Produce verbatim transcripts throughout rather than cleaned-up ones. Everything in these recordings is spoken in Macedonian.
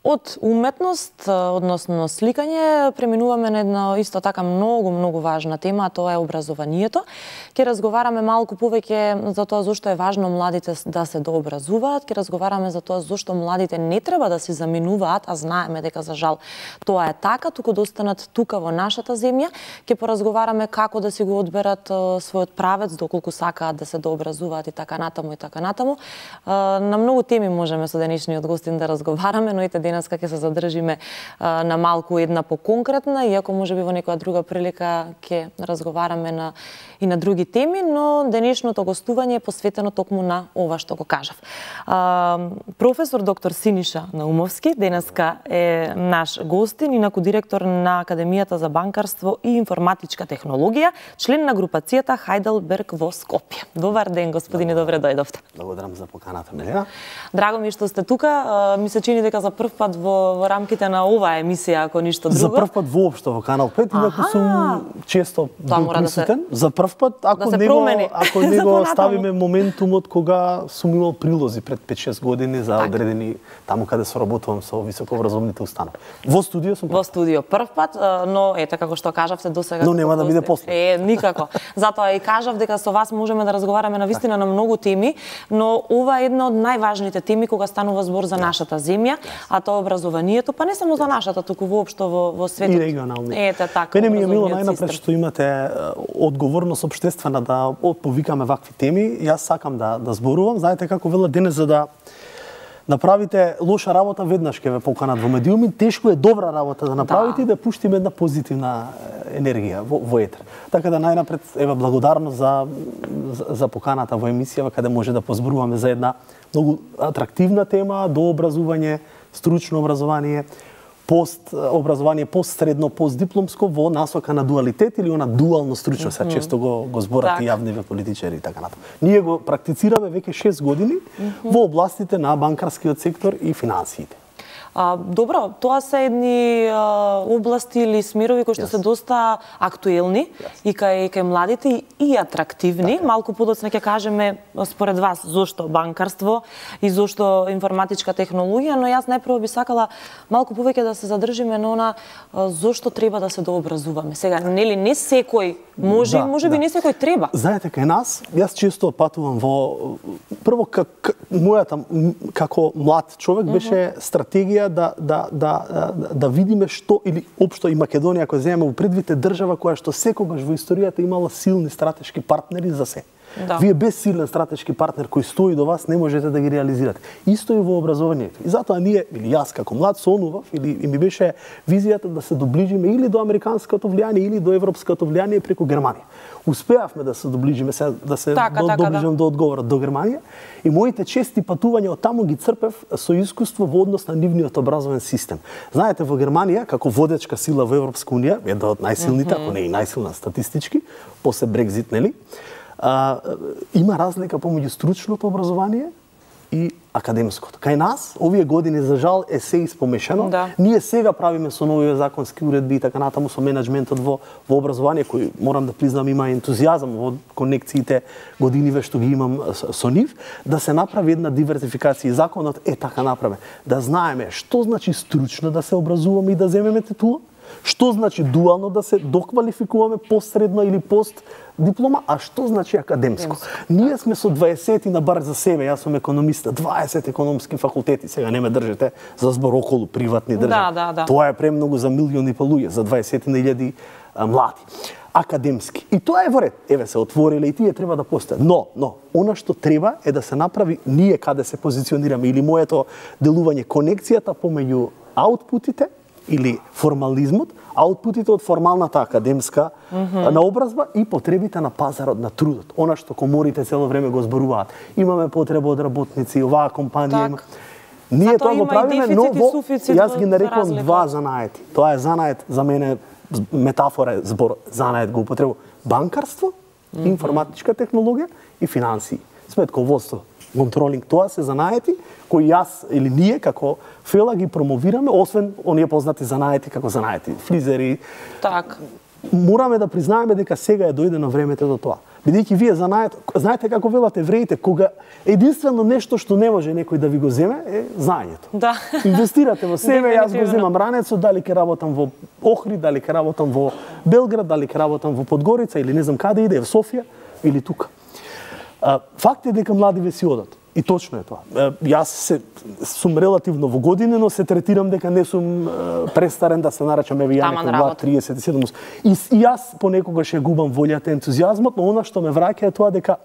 Од уметност, односно сликање, преминуваме на една исто така многу, многу важна тема, а тоа е образованието. Ке разговараме малку повеќе за тоа зошто е важно младите да се дообразуваат, ке разговараме за тоа зошто младите не треба да се заменуваат, а знаеме дека за жал тоа е така, туку да останат тука во нашата земја. Ке поразговараме како да си го одберат својот правец, доколку сакаат да се дообразуваат и така натаму и така натаму. На многу теми можеме со денешниот гостин да разговараме, но ете денеска ќе се задржиме а, на малку една поконкретна, иако можеби во некоја друга прилика ќе разговараме на и на други теми, но денешното гостување е посветено токму на ова што го кажав. А, професор доктор Синиша Наумовски денеска е наш гостин, инаку директор на Академијата за банкарство и информатичка технологија, член на групацијата Хајделберг во Скопје. Добар ден, господине, добре дојдовте. Благодарам за поканата, Милена. Драго ми што сте тука. Ми се чини дека за прв пат во, во рамките на оваа емисија, ако ништо друго. За прв пат воопшто во Канал пет, инаку сум често бил присутен. Да се, за прв пат, ако да не го, ако не го ставиме моментумот кога сум имал прилози пред пет-шест години за одредени таму каде соработувам со високообразовните установи. Во студио сум. Во студио прв пат, но ете како што кажавте досега. Но нема да биде после. Е, никако. Затоа и кажав дека со вас можеме да разговараме на вистина на многу теми, но ова е една од најважните теми кога станува збор за нашата земја, а тоа образованието, па не само за нашата, туку воопшто во, во светот. И регионални. Ете така. Мене ми е мило најнапред што имате одговорност општествена да повикаме вакви теми. Јас сакам да да зборувам. Знаете како велат денес, за да направите лоша работа веднаш ќе ве поканат во медиуми, тешко е добра работа да направите да. И да пуштиме една позитивна енергија во, во етер. Така да најнапред ева благодарност за, за за поканата во емисија каде може да позборуваме за една многу атрактивна тема, до образување, стручно образование, пост образование, постсредно, постдипломско во насока на дуалитет или она дуално стручно, се mm -hmm. често го го зборат так. И јавниве политичари и така натаму. Ние го практицираме веќе шест години mm -hmm. во областите на банкарскиот сектор и финансиите. А, добро, тоа се едни а, области или смерови кои што yes. се доста актуелни yes. и кај кај младите и, и атрактивни. Така. Малку подоцна ќе кажеме според вас зошто банкарство и зошто информатичка технологија, но јас најпрво би сакала малку повеќе да се задржиме на она а, зошто треба да се дообразуваме. Сега, нели не секој може, да, можеби да. Не секој треба. Знаете, кај нас, јас често патувам во прво как мојата како млад човек беше mm -hmm. стратегија да да да да видиме што или општо и Македонија која земеме во предвид е држава која што секогаш во историјата имала силни стратешки партнери за се. Да. Вие без силен стратешки партнер кој стои до вас не можете да ги реализирате. Исто и во образованието. И затоа ние или јас како млад сонував или и ми беше визијата да се доближиме или до американското влијание или до европското влијание преку Германија. Успеавме да се доближиме се да се така, до, така, доближам да. До одговорот до Германија и моите чести патувања од таму ги црпев со искуство во однос на нивниот образовен систем. Знаете, во Германија како водечка сила во Европска унија, една од најсилните, mm -hmm. ако не и најсилна статистички, после Брекзит, нели? А, има разлика помеѓу стручното образование и академското. Кај нас, овие години, за жал, е се испомешано. Да. Ние сега правиме со нови законски уредби и така натаму со менеджментот во, во образование, кој, морам да признам, има ентузијазам во конекциите годиниве што ги имам со нив, да се направи една диверзификација. И законот е така направен. Да знаеме што значи стручно да се образуваме и да земеме титула, што значи дуално да се доквалификуваме постсредно или пост диплома, а што значи академско. Ние сме со дваесет на бар за себе, јас сум економиста, дваесет економски факултети, сега не ме држите за збор околу приватни држави. Да, да, да. Тоа е премногу за милиони па луѓе, за дваесет илјади млади. Академски. И тоа е во ред. Еве се отвориле и тие треба да постојат. Но, но, она што треба е да се направи ние каде се позиционираме или моето делување конекцијата помеѓу аутпутите или формализмот, аутпутите од формалната академска mm -hmm. наобразба и потребите на пазарот на трудот. Она што коморите цело време го зборуваат. Имаме потреба од работници, оваа компанија так. Има. Ние тоа го правиме, но во, јас ги нарекувам два занаети. Тоа е занает, за мене метафора е збор, занает го употребувам. Банкарство, mm -hmm. информатичка технологија и финансии. Сметководство, контролинг, тоа се занаети кои јас или ние како Фела ги промовираме, освен оние познати занаети како занаети, фризери. Так. Мораме да признаеме дека сега е дојдено времето до тоа. Бидејќи вие знаете, знаете како велат евреите, кога единствено нешто што не може некој да ви го земе е знаењето. Да. Инвестирате во себе, јас го земам ранецот, дали ќе работам во Охрид, дали ќе работам во Белград, дали ќе работам во Подгорица или не знам каде иде, во Софија или тука. Факт е дека младиве си одат. И точно е тоа. Јас се, сум релативно во години, но се третирам дека не сум престарен да се наречам еве ја некој влад триесет и седум. И, и јас понекогаш ја губам волјата, ентузијазмот, но она што ме враќа е тоа дека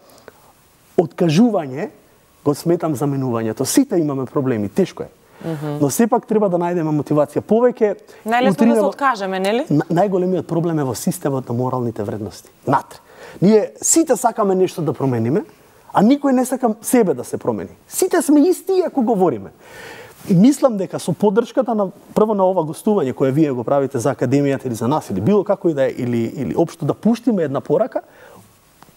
откажување го сметам заменувањето. Сите имаме проблеми, тешко е. Mm -hmm. Но сепак треба да најдеме мотивација. Повеќе најлесно да се откажеме, нели? Најголемиот проблем е во системот на моралните вредности. Натре. Ние сите сакаме нешто да промениме, а никој не сака себе да се промени. Сите сме исти ако говориме. И мислам дека со поддршката на прво на ова гостување кое вие го правите за академијата или за нас или било како и да е, или или општо да пуштиме една порака,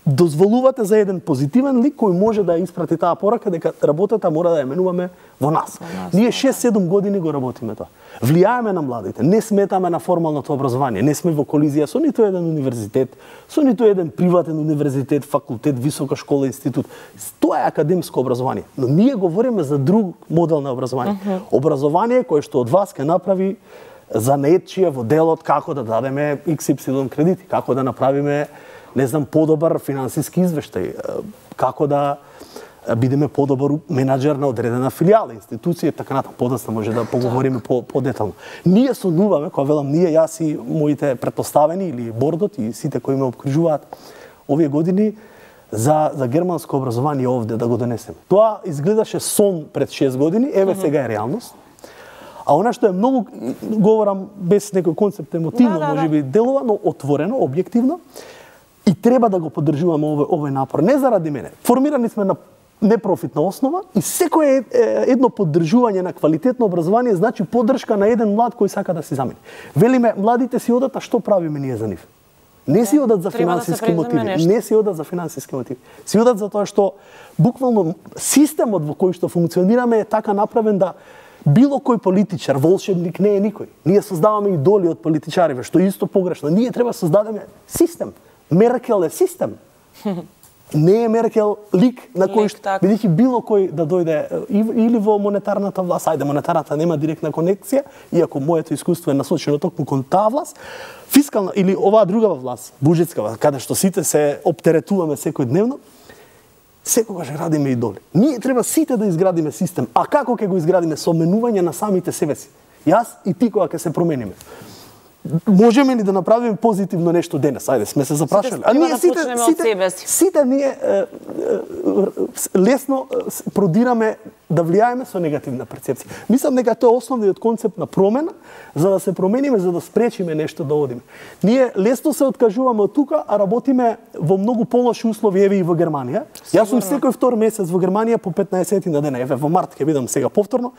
дозволувате за еден позитивен лик кој може да ја испрати таа порака дека работата мора да ја менуваме во нас. Во нас Ние шест-седум години го работиме тоа. Влијаеме на младите, не сметаме на формалното образование, не сме во колизија со ниту еден универзитет, со ниту еден приватен универзитет, факултет, висока школа, институт. Тоа е академско образование, но ние говориме за друг модел на образование. Uh -huh. Образование кое што од вас ќе направи занаетчија во делот како да дадеме икс ипсилон кредити, како да направиме не знам, подобар финансиски извештај, како да бидеме подобар менаџер на одредена филијала, институција, така натаму, подоцна може да поговориме по, подетално. Ние сонуваме, кога велам ние, јас и моите претпоставени или бордот и сите кои ме обкружуваат овие години, за, за германско образование овде да го донесеме. Тоа изгледаше сон пред шест години, еве сега е реалност. А она што е многу, говорам без некој концепт емотивно, да, да, може би делува, но отворено, објективно, и треба да го поддржуваме овој, овој напор. Не заради мене. Формирани сме на непрофитна основа и секое едно поддржување на квалитетно образование значи поддршка на еден млад кој сака да се замени. Велиме, младите си одат, а што правиме ние за нив? Не си одат за финансиски мотиви, не си одат за финансиски мотиви. Си одат за тоа што буквално системот во кој што функционираме е така направен да било кој политичар, волшебник не е никој. Ние создаваме идоли од политичариве, што е исто погрешно. Ние треба создадеме систем. Меркел е систем. Не е Меркел лик на кој што бидејќи било кој да дојде или во монетарната власт, ајде монетарната нема директна конекција, иако моето искуство е насочено токму кон таа власт, фискална или оваа друга власт, буџетска власт, каде што сите се оптеретуваме секојдневно, секогаш градиме идоли. Ние треба сите да изградиме систем. А како ќе го изградиме? Со менување на самите себе си. Јас и ти кога ќе се промениме. Можеме ли да направиме позитивно нешто денес? Ајде, сме се запрашали. А ние сите, да сите, сите ние е, е, лесно продираме да влијаеме со негативна перцепција. Мислам дека тоа е основниот концепт на промена, за да се промениме, за да спречиме нешто да одиме. Ние лесно се откажуваме од тука, а работиме во многу полоши услови, еве и во Германија. Јас сум секој втор месец во Германија по петнаесет на дена, еве во март ќе бидам сега повторно.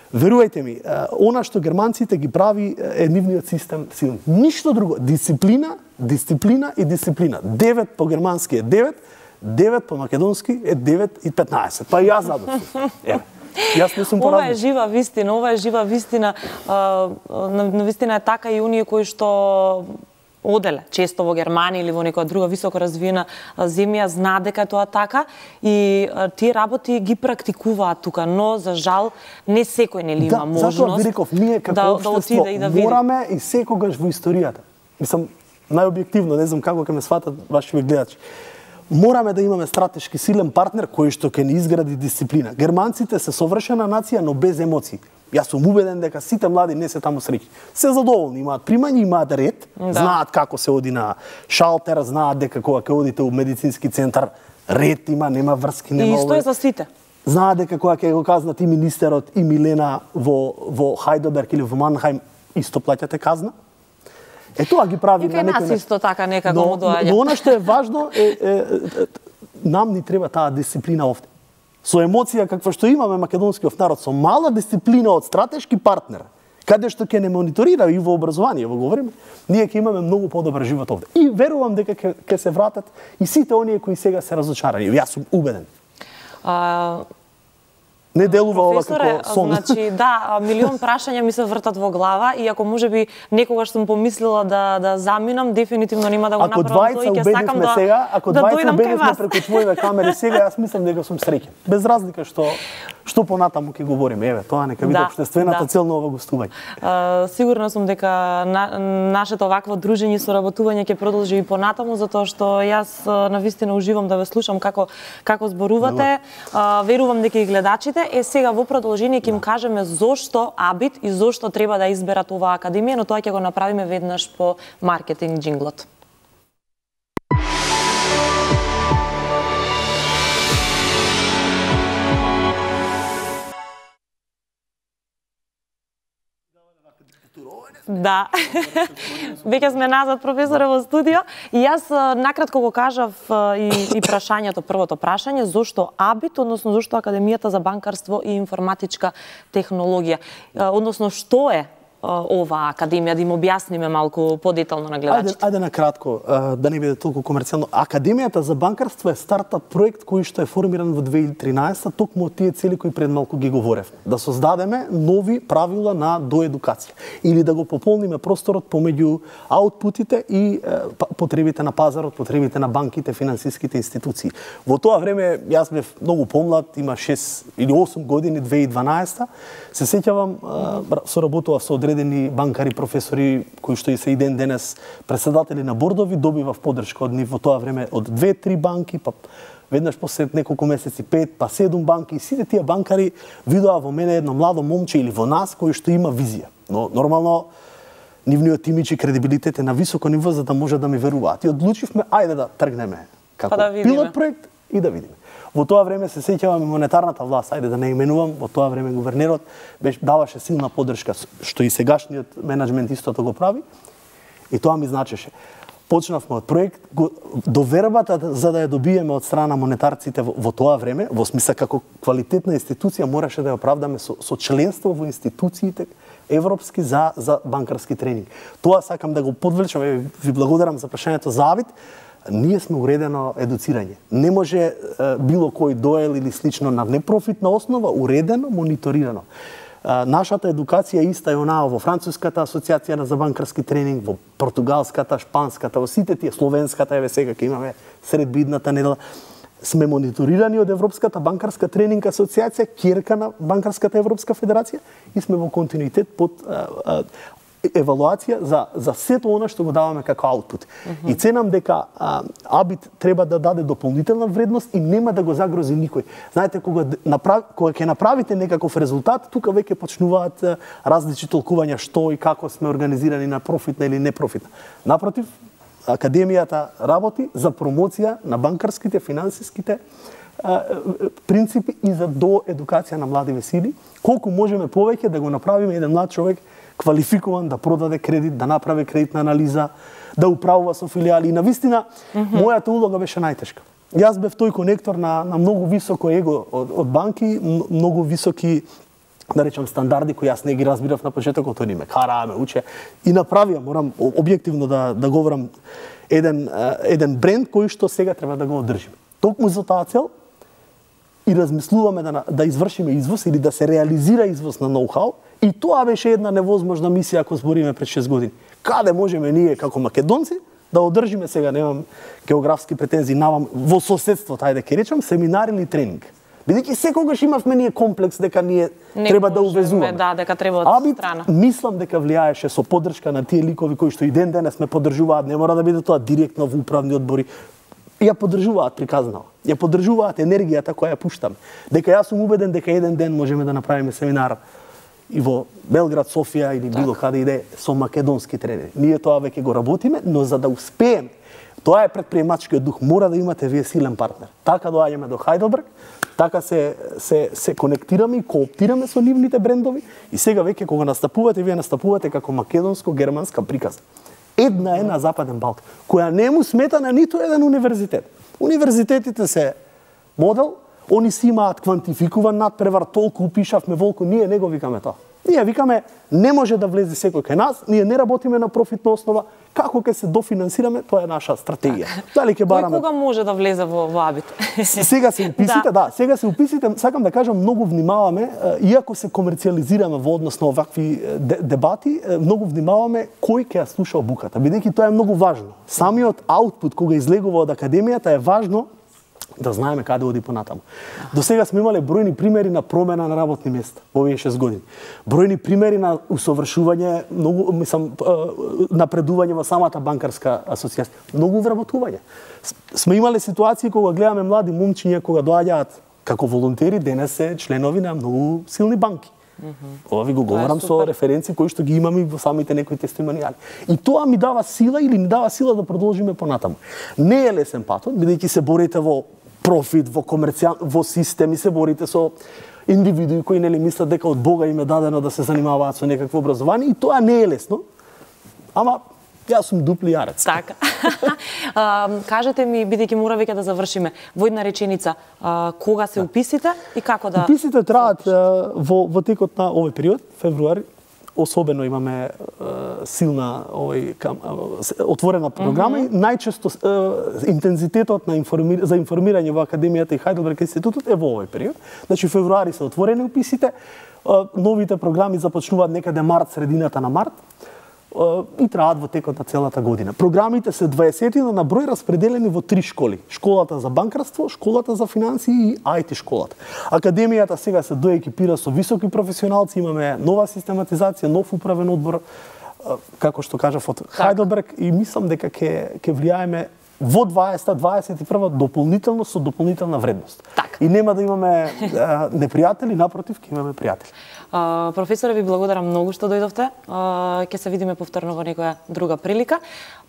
Верувајте ми, она што германците ги прави е нивниот систем силен. Ништо друго. Дисциплина, дисциплина и дисциплина. девет по германски е девет, девет по македонски е девет и петнаесет. Па јас задов. Еве. Јас не сум поразбил. Ова е жива вистина, ова е жива вистина. На вистина е така и оние кои што оделе често во Германија или во некоја друга високо развиена земја, знаат дека тоа така и тие работи ги практикуваат тука, но за жал не секој нели има да, можност. Затоа Вириков, ние како да, општество да и да мораме и секогаш во историјата. Мислам најобјективно, не знам како ќе ме сватат вашите гледачи. Мораме да имаме стратешки силен партнер кој што ќе ни изгради дисциплина. Германците се совршена нација, но без емоции. Јас сум убеден дека сите млади не се таму среќни. Се задоволни, имаат примање, имаат ред, да. Знаат како се оди на шалтер, знаат дека кога ќе одите у медицински центар, ред има, нема врски, нема. И исто е за сите. Знаат дека кога ќе го казнат и министерот и Милена во во Хајдоберг или во Манхајм, исто плаќате казна. Е тоа ги прави на некој начин. И кај нас исто така некако му доаѓа. Но она што е важно е, е, е нам ни треба таа дисциплина овде. Со емоција каква што имаме македонскиот народ, со мала дисциплина од стратешки партнер, каде што ќе не мониторира и во образование, во говориме, ние ќе имаме многу подобар живот овде. И верувам дека ќе ќе се вратат и сите оние кои сега се разочарани. Јас сум убеден. А... Не делува ова како сон. Значи, да, милион прашања ми се вртат во глава и ако можеби некогаш сум помислила да да заминам, дефинитивно нема да го направам тоа и ќе сакам да сега, ако да двајца дојдам кај вас. преку твоите камери сега, јас мислам дека сум среќен. Без разлика што што понатаму ќе говориме. Еве, тоа нека биде да, општествената да. цел на ова гостување. Uh, сигурна сум дека на, нашето вакво дружење и соработување ќе продолжи и понатаму, затоа што јас навистина уживам да ве слушам како како зборувате. Uh, верувам дека и гледачите. Е сега во продолжение ќе им кажеме зошто Абит и зошто треба да изберат оваа академија, но тоа ќе го направиме веднаш по маркетинг джинглот. Да. Веќе сме назад, професоре, во студио. И јас накратко го кажав и, и прашањето, првото прашање, зошто Абит, односно зошто Академијата за банкарство и информатичка технологија. Односно, што е оваа академија, да им објасниме малку подетално на гледачите. Ајде, ајде на кратко, да не биде толку комерцијално. Академијата за банкарство е стартап проект кој што е формиран во две илјади и тринаесета, токму од тие цели кои пред малку ги говорев. Да создадеме нови правила на доедукација или да го пополниме просторот помеѓу аутпутите и потребите на пазарот, потребите на банките, финансиските институции. Во тоа време јас бев многу помлад, има шест или осум години, две илјади и дванаесета. Се сеќавам, соработував со одредени банкари, професори кои што и се и ден денес председатели на бордови, добивав поддршка од нив во тоа време од две-три банки, па веднаш после неколку месеци пет, па седум банки, и сите тие банкари видоа во мене едно младо момче или во нас кој што има визија. Но нормално нивниот имидж и кредибилитет е на високо ниво за да може да ми веруваат. И одлучивме ајде да тргнеме како па да пилот проект и да видиме. Во тоа време се сеќавам и монетарната власт, ајде да не именувам, во тоа време гувернерот беше даваше силна поддршка, што и сегашниот менаџмент истото го прави. И тоа ми значеше. Почнавме од проект, довербата за да ја добиеме од страна монетарците во, во тоа време, во смисла како квалитетна институција мораше да ја оправдаме со, со членство во институциите европски за за банкарски тренинг. Тоа сакам да го подвлечам, ви благодарам за прашањето за Абит. Ние сме уредено едуцирање. Не може е, било кој доел или слично на непрофитна основа, уредено, мониторирано. Е, нашата едукација иста е онаа во Француската асоциација за банкарски тренинг, во Португалската, Шпанската, во сите тие, Словенската, еве сега ќе имаме сред бидната недела. Сме мониторирани од Европската банкарска тренинг асоциација, ќерка на Банкарската Европска федерација, и сме во континуитет под е, е, евалуација за за сето она што го даваме како аутпут. Mm -hmm. И ценам дека а, Абит треба да даде дополнителна вредност и нема да го загрози никој. Знаете, кога направ, кога ќе направите некаков резултат, тука веќе почнуваат а, различни толкувања што и како сме организирани на профитна или непрофитна. Напротив, Академијата работи за промоција на банкарските, финансиските а, принципи и за доедукација на млади сили. Колку можеме повеќе да го направиме еден млад човек квалификуван да продаде кредит, да направи кредитна анализа, да управува со филијали. И навистина, mm -hmm. мојата улога беше најтешка. Јас бев тој конектор на, на многу високо его од, од банки, многу високи, да речам, стандарди кои јас не ги разбирав на почетокот, тој ни ме караа, ме уче. И направија, морам објективно да, да говорам, еден, еден бренд кој што сега треба да го одржиме. Токму за таа цел и размислуваме да, да извршиме извоз или да се реализира извоз на ноу-хау. И тоа беше една невозможна мисија ако збориме пред шест години. Каде можеме ние како македонци да одржиме, сега немам географски претензии, навам во соседството, ајде ќе речам, семинар или тренинг. Бидејќи секогаш имавме ние комплекс дека ние не треба да увезуваме. Да, дека треба од Абит, страна. мислам дека влијаеше со поддршка на тие ликови кои што и ден денес ме поддржуваат, не мора да биде тоа директно во управни одбори. Ја поддржуваат приказнава. Ја поддржуваат енергијата која ја пуштам. Дека јас сум убеден дека еден ден можеме да направиме семинар и во Белград, Софија или било так. Каде иде со македонски тренери. Ние тоа веќе го работиме, но за да успееме, тоа е предприемачкиот дух, мора да имате вие силен партнер. Така доаѓаме до Хајделберг, така се се се конектираме и кооптираме со нивните брендови и сега веќе кога настапувате, вие настапувате како македонско-германска приказна. Една е на Западен Балкан, која не му смета на ниту еден универзитет. Универзитетите се модел, они си имаат квантификуван надпревар, толку упишавме волку, ние не го викаме тоа. Ние викаме, не може да влезе секој кај нас, ние не работиме на профитна основа, како ќе се дофинансираме, тоа е наша стратегија. Дали ќе бараме... Кој кога може да влезе во, во АБИТ? Сега се уписите, да. да, сега се уписите, сакам да кажам, многу внимаваме, иако се комерцијализираме во однос на овакви дебати, многу внимаваме кој ќе ја слуша обуката, бидејќи тоа е многу важно. Самиот аутпут кога излегува од академијата е важно да знаеме каде оди понатаму. До сега сме имале бројни примери на промена на работни места во овие шест години. Бројни примери на усовршување, многу, мислам, напредување во самата банкарска асоцијација, многу вработување. Сме имале ситуации кога гледаме млади момчиња кога доаѓаат како волонтери, денес се членови на многу силни банки. Mm-hmm. Ова ви го говорам со референци кои што ги имаме во самите некои тестимонијали. И тоа ми дава сила или ни дава сила да продолжиме понатаму. Не е лесен патот, бидејќи се борите во профит, во комерцијал, во системи, се борите со индивидуи кои нели мислат дека од Бога им е дадено да се занимаваат со некакво образование и тоа не е лесно. Ама јас сум дупли јарец. Така. а, кажете ми, бидејќи мора веќе да завршиме, во една реченица, а, кога се уписите и како да... Уписите траат во, во текот на овој период, февруари, особено имаме е, силна овој кам, е, отворена програма mm-hmm. и најчесто е, интензитетот на информир, за информирање во академијата и Хајделберг институтот е во овој период. Значи февруари се отворени уписите, е, новите програми започнуваат некаде март, средината на март и траат во текот на целата година. Програмите се дваесетина на број распределени во три школи. Школата за банкарство, школата за финансии и ај ти школата. Академијата сега се доекипира со високи професионалци, имаме нова систематизација, нов управен одбор, како што кажав од Хајделберг, и мислам дека ќе ќе влијаеме во дваесета дваесет и прва дополнително со дополнителна вредност. Так. И нема да имаме а, непријатели, напротив, ќе имаме пријатели. Uh, професоре, ви благодарам многу што дојдовте. Uh, ќе се видиме повторно во некоја друга прилика.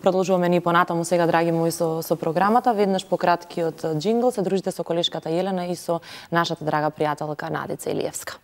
Продолжуваме ни понатаму сега, драги мои, со, со програмата. Веднаш по краткиот джингл се дружите со колешката Јелена и со нашата драга пријателка Надица Илиевска.